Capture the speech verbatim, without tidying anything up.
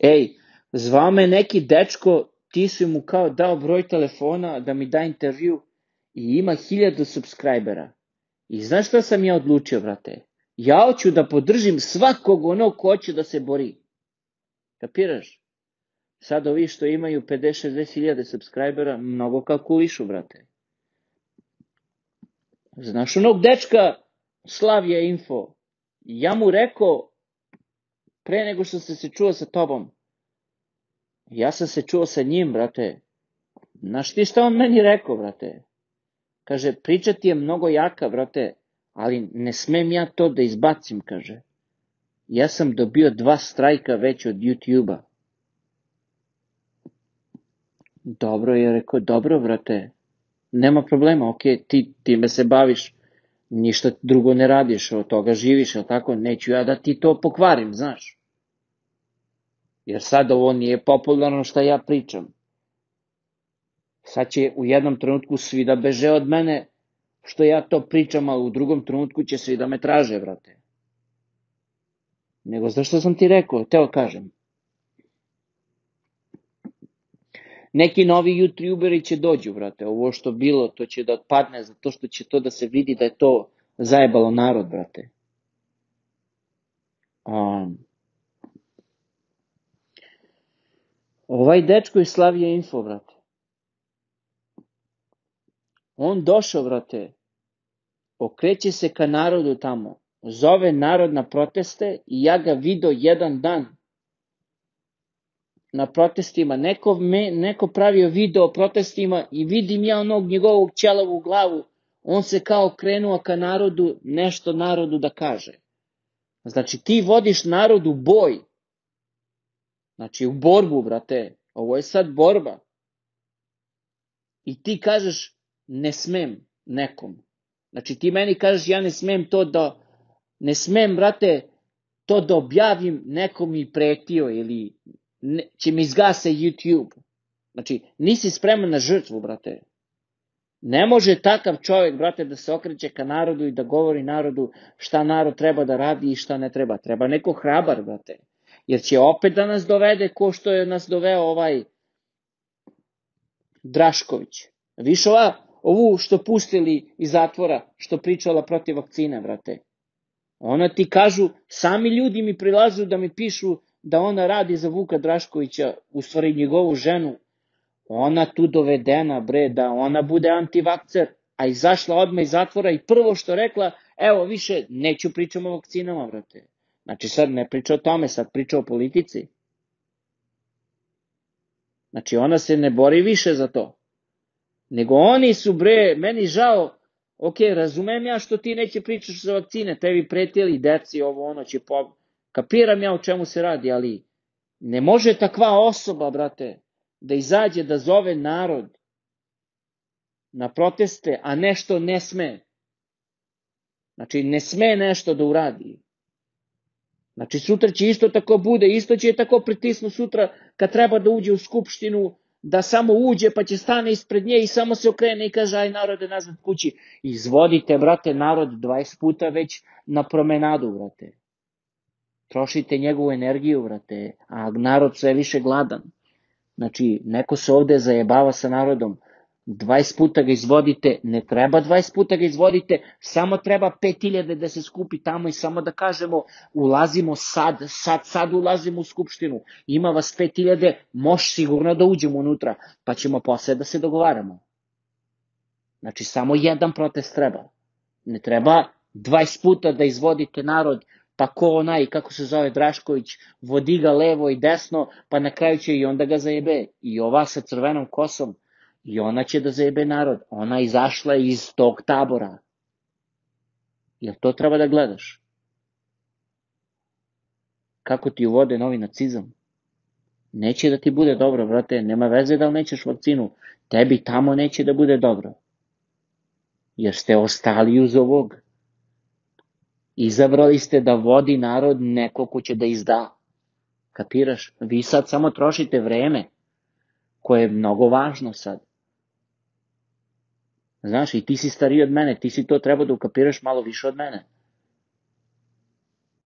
Ej, zvao me neki dečko, ti si mu kao dao broj telefona da mi da intervju i ima hiljadu subscribera. I znaš šta sam ja odlučio, brate? Ja hoću da podržim svakog onog ko hoće da se bori. Kapiraš? Sad ovi što imaju pedeset šezdeset hiljada subscribera, mnogo kalkulišu, brate. Znaš onog dečka Slavija Info? Ja mu rekao, pre nego što sam se čuo sa tobom, ja sam se čuo sa njim, brate. Znaš ti šta on meni rekao, brate? Kaže, priča ti je mnogo jaka, brate, ali ne smem ja to da izbacim, kaže. Ja sam dobio dva strajka već od YouTube-a. Dobro, je rekao, dobro, brate, nema problema, ok, ti time se baviš, ništa drugo ne radiš, od toga živiš, ali tako, neću ja da ti to pokvarim, znaš. Jer sad ovo nije popularno šta ja pričam. Sad će u jednom trenutku svi da beže od mene što ja to pričam, a u drugom trenutku će svi da me traže, brate. Nego zašto sam ti rekao, teo kažem. Neki novi youtuberi će dođu, brate, ovo što bilo, to će da otpadne, zato što će to da se vidi da je to zajebalo narod, brate. Um, ovaj dečko iz Slavija Info, brate, on došao, brate, okreće se ka narodu tamo, zove narod na proteste i ja ga vidio jedan dan na protestima, neko, me, neko pravio video o protestima i vidim ja onog njegovog ćelavu glavu, on se kao krenuo ka narodu, nešto narodu da kaže. Znači ti vodiš narod u boj, znači u borbu, brate, ovo je sad borba. I ti kažeš ne smem nekom. Znači ti meni kažeš ja ne smem to da, ne smem, brate, to da objavim, nekom mi pretio ili ne, će mi izgase YouTube. Znači nisi spreman na žrtvu, brate. Ne može takav čovjek, brate, da se okreće ka narodu i da govori narodu šta narod treba da radi i šta ne treba. Treba neko hrabar, brate. Jer će opet da nas dovede ko što je nas doveo ovaj Drašković. Viš ova, ovu što pustili iz zatvora, što pričala protiv vakcine, brate. Ona ti kažu, sami ljudi mi prilažu da mi pišu da ona radi za Vuka Draškovića, u stvari njegovu ženu. Ona tu dovedena, bre, da ona bude antivakcer, a izašla odmah iz zatvora i prvo što rekla, evo više, neću pričam o vakcinama, brate. Znači sad ne priča o tome, sad priča o politici. Znači ona se ne bori više za to. Nego oni su, bre, meni žao, ok, razumem ja što ti neće pričaš za vakcine, tebi pretili deci, ovo ono će po... Kapiram ja o čemu se radi, ali ne može takva osoba, brate, da izađe da zove narod na proteste, a nešto ne sme. Znači ne sme nešto da uradi. Znači sutra će isto tako bude, isto će tako pritisnu sutra kad treba da uđe u skupštinu, da samo uđe pa će stane ispred nje i samo se okrene i kaže aj narode nazad kući. Izvodite, brate, narod dvadeset puta već na promenadu, brate. Trošite njegovu energiju, brate, a narod sve više gladan. Znači, neko se ovde zajebava sa narodom, dvadeset puta ga izvodite, ne treba dvadeset puta ga izvodite, samo treba pet hiljada da se skupi tamo i samo da kažemo, ulazimo sad, sad, sad ulazimo u skupštinu, ima vas pet hiljada, može sigurno da uđemo unutra, pa ćemo posle da se dogovaramo. Znači, samo jedan protest treba. Ne treba dvadeset puta da izvodite narod, pa ko onaj, kako se zove Drašković, vodi ga levo i desno, pa na kraju će i onda ga zajebe. I ova sa crvenom kosom, i ona će da zajebe narod. Ona izašla iz tog tabora. Jel to treba da gledaš? Kako ti uvode novi nacizam? Neće da ti bude dobro, brate, nema veze da li nećeš vakcinu. Tebi tamo neće da bude dobro. Jer ste ostali uz ovog. Izabrali ste da vodi narod neko ko će da izda. Kapiraš? Vi sad samo trošite vreme, koje je mnogo važno sad. Znaš, i ti si stariji od mene, ti si to trebao da ukapiraš malo više od mene.